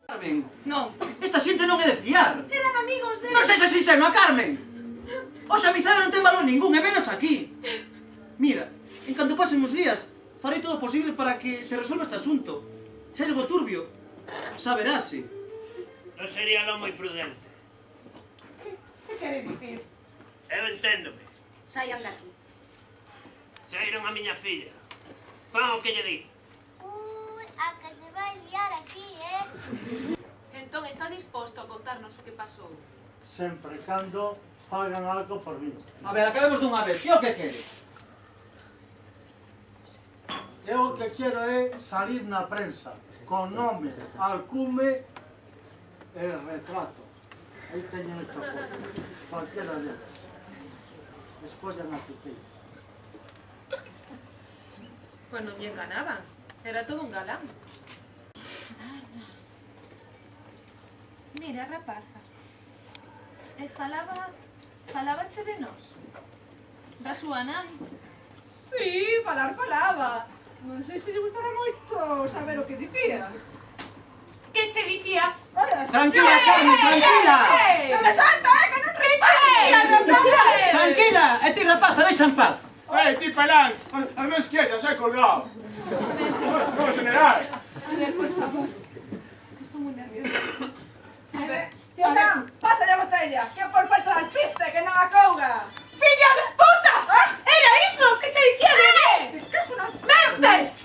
Carmen. Non. Esta xente non é de fiar. Eran amigos de... Non sexa sinxenua, Carmen. Os amizades non ten valor ningún, e menos aquí. Mira, en canto pasen os días, farei todo o posible para que se resolva este asunto. Se hai algo turbio, xa verase. Non sería lo moi prudente. Que quere dicir? Eu enténdome. Saian de aquí. Saíron a miña filla. Fan o que lle di. A que se vai liar aquí, Entón está disposto a contarnos o que pasou. Sempre cando fagan algo por mí. A ver, acabemos dunha vez. Que o que quere? Eu o que quero é salir na prensa con nome, alcume e retrato. Aí teño isto cualquiera deles. Escollan a tutela. Pois non lle enganaban. Era todo un galán. Mira, rapaza. E falabache de nós. Da súa nai. Sí, falaba. Non sei se lle gustara moito saber o que dicía. Que che dicía? Tranquila, Carmen, tranquila. Non me salta, que non respira! Tranquila, e ti rapaza, deixa en paz. Ti pelán, al menos quieta, se hai colgado. No, general. A ver, por favor. Estou moi nerviosa. A ver, tío Sam, pásale a botella, que por falta de alpiste, que non acouga. Filla de puta! Era iso que che dicía de mí! Mentes!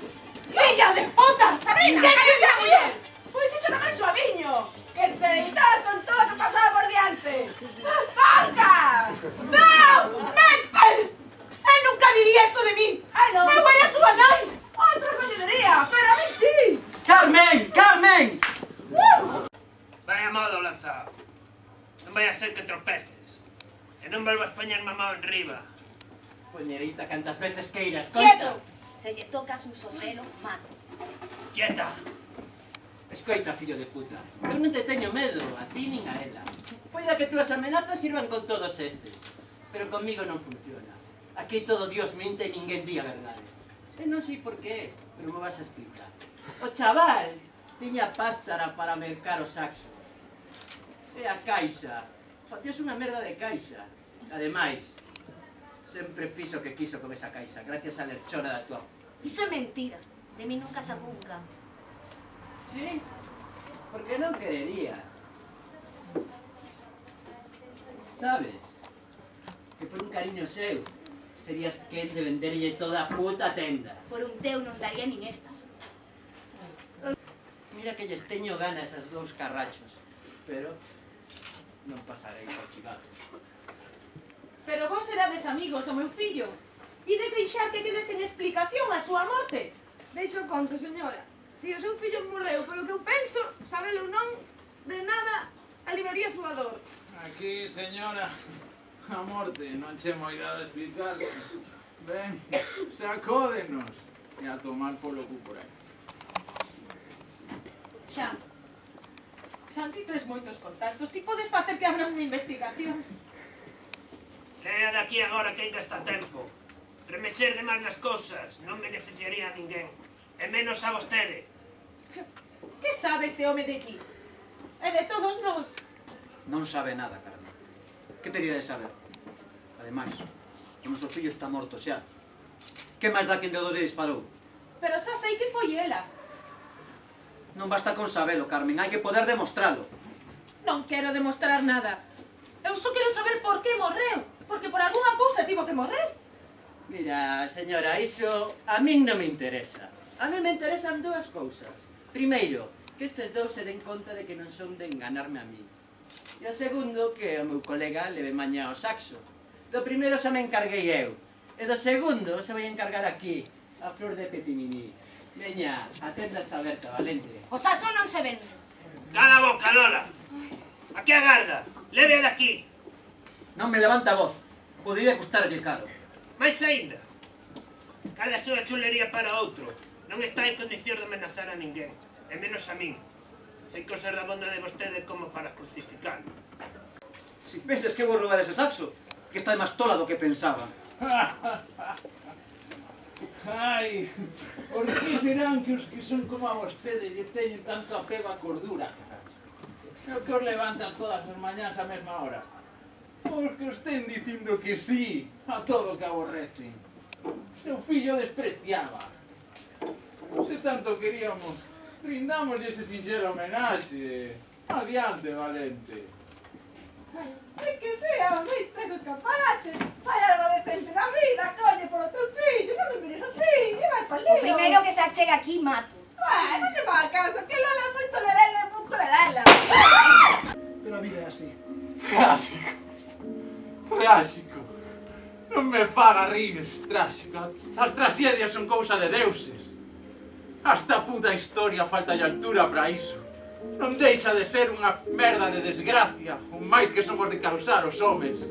Filla de puta! Sabrina, que che dicía? Pois iso tamén suaviño, que te deitas con todo o que pasaba por diante. ¡Panca! Non! Mentes! Eu nunca diría eso de mí! Ai, non. Eu era a súa nai! Outro coñecería, pero a mí sí. Carmen, Carmen. Vai a modo lanzado. Non vai a ser que tropeces. E non volvas poñer mamá en riba. Poñerita, cantas veces queiras, ¡Quieto! conta. Se lle tocas un sombrero, mato. Quieta. Escoita, fillo de puta. Eu non te teño medo, a ti nin a ela. Poida que túas amenazas sirvan con todos estes. Pero conmigo non funciona. Aquí todo Dios mente e ninguén di a verdade. E non sei por qué, pero me vas a explicar. O chaval tiña pástara para mercar o saxo. E a caixa. Facías unha merda de caixa. Ademais, sempre fixo o que quiso con esa caixa, gracias a lerchona da tua... Iso é mentira. De mí nunca sacou un can. Sí? Porque non querería. Sabes? Que por un cariño seu serías quen de venderlle toda a puta tenda. Por un teu non daría nin estas. Mira que lles teño gana esas dous carrachos. Pero non pasarei por chivado. Pero vos erades amigos do meu fillo. Ides deixar que quede sen explicación a súa morte. Deixo conto, señora. Se o seu fillo morreu polo que eu penso, sabelo ou non, de nada aliviaría a súa dor. Aquí, señora, a morte non che moi dado explicar. Ben, sacódenos e a tomar polo cu por aí. Xa ti tes moitos contactos. Ti podes facer que abra unha investigación. Lea de aquí agora que ainda está a tempo. Remexer de máis nas cousas non beneficiaría a ninguén. E menos a vostede. Que sabe este home de aquí? E de todos nós? Non sabe nada, Carmen. Que teria de saber? Ademais, o noso fillo está morto xa. Que máis dá quen de dos lle disparou? Pero xa sei que foi ela. Non basta con sabelo, Carmen, hai que poder demostralo. Non quero demostrar nada. Eu só quero saber por que morreu. Porque por algunha cousa tivo que morrer. Mira, señora, iso a min non me interesa. A min me interesan dúas cousas. Primeiro, que estes dous se den conta de que non son de enganarme a mí. E o segundo, que o meu colega leve mañá ao saxo. Do primeiro xa me encarguei eu. E do segundo se vai encargar aquí, a flor de Petiminí. Veña, a tenda está aberta, valente. O saxo non se vende. Cala a boca, Lola. Aquí agarda. Leve de aquí. Non me levanta a voz. Podería custarlle caro. Mais aínda. Cala a súa chulería para outro. Non está en condición de amenazar a ninguén. E menos a min. Sei que ser da bonda de vostede como para crucificarme. Si penses que vou roubar ese saxo, que está máis tola do que pensaba. Ai, por que serán que os que son como a vostede lle teñen tanto apego a cordura, carallo? É o que os levantan todas as mañás á mesma hora. Porque os ten dicindo que sí a todo o que aborrecen. Seu fillo despreciaba. Se tanto queríamos, brindámoslle ese sinxelo homenaxe. Adiante, valente. Ai, que sea, moitos escaparates. Fai algo decente na vida, colle, polo teu fillo. Non me mires así, e vai pa lío. O primeiro que se achega aquí, mato. Non te va a caso, que Lola é moito lerela e pouco lerela. Pero a vida é así. Tráxico. Tráxico. Non me faga rir, tráxico. As tragedias son cousa de deuses. Hasta a puta historia falta de altura para iso. Non deixa de ser unha merda de desgracia, o máis que somos de causar os homes.